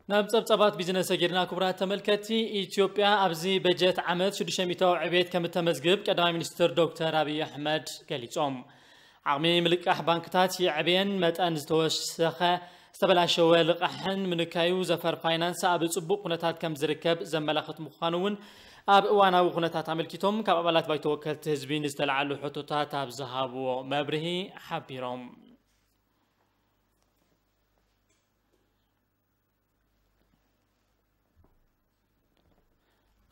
ናብ ጸብጻባት ቢዝነስ ሰጊርና። ክቡራት ተመልከቲ፣ ኢትዮጵያ ኣብዚ በጀት ዓመት ሽዱሽተ ሚእታዊ ዕቤት ከም እተመዝግብ ቀዳማይ ሚኒስትር ዶክተር ኣብይ ኣሕመድ ገሊጾም። ዓቕሚ ምልቃሕ ባንክታት ይዕብየን መጠን ዝተወሰኸ ዝተበላሸወ ልቃሕን ምንካዩ ዘፈር ፋይናንስ ኣብ ጽቡቕ ኩነታት ከም ዝርከብ ዘመላኽት ምዃኑ እውን ኣብ እዋናዊ ኩነታት ኣመልኪቶም ካብ ኣባላት ባይቶ ወከልቲ ህዝቢ ንዝተለዓሉ ሕቶታት ኣብ ዝሃብዎ መብርሂ ሓቢሮም።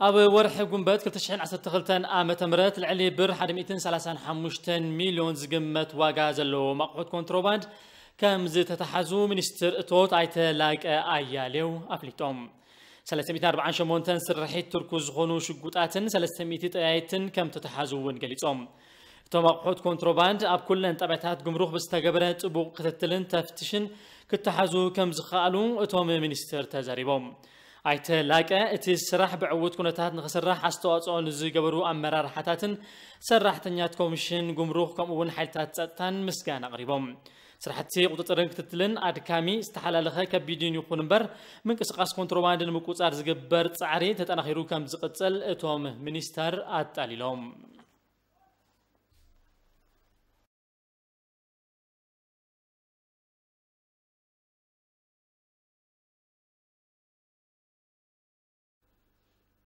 ኣብ ወርሒ ጉንበት ክልተ ሽሕን ዓሰርተ ክልተን ዓመተ ምህረት ልዕሊ ብር ሓደ ሚእትን ሰላሳን ሓሙሽተን ሚልዮን ዝግመት ዋጋ ዘለዎም ኣቑሑት ኮንትሮባንድ ከም ዝተተሓዙ ሚኒስትር እቶት ኣይተ ላቀ ኣያሌው ኣፍሊጦም። ሰለስተ ሚእትን ኣርባዓን ሸሞንተን ስርሒት ትርኩ ዝኾኑ ሽጉጣትን ሰለስተ ሚእቲ ጠያይትን ከም ተተሓዙ እውን ገሊጾም። እቶም ኣቑሑት ኮንትሮባንድ ኣብ ኩለን ጣብያታት ጉምሩክ ብዝተገበረ ጥቡቕ ክትትልን ተፍትሽን ክተሓዙ ከም ዝኸኣሉ እቶም ሚኒስትር ተዛሪቦም። ኣይተ ላቀ እቲ ስራሕ ብዕዉት ኩነታት ንኽስራሕ ኣስተዋፅኦ ንዝገበሩ ኣመራርሓታትን ሰራሕተኛት ኮሚሽን ጉምሩክ ከምኡ እውን ሓይልታት ጸጥታን ምስጋና ኣቕሪቦም። ስራሕቲ ቁፅፅርን ክትትልን ኣድካሚ፣ ዝተሓላለኸ፣ ከቢድን ይኹን እምበር ምንቅስቃስ ኮንትሮባንድ ንምቁፃር ዝግበር ፃዕሪ ተጠናኺሩ ከም ዝቕፅል እቶም ሚኒስተር ኣጣሊሎም።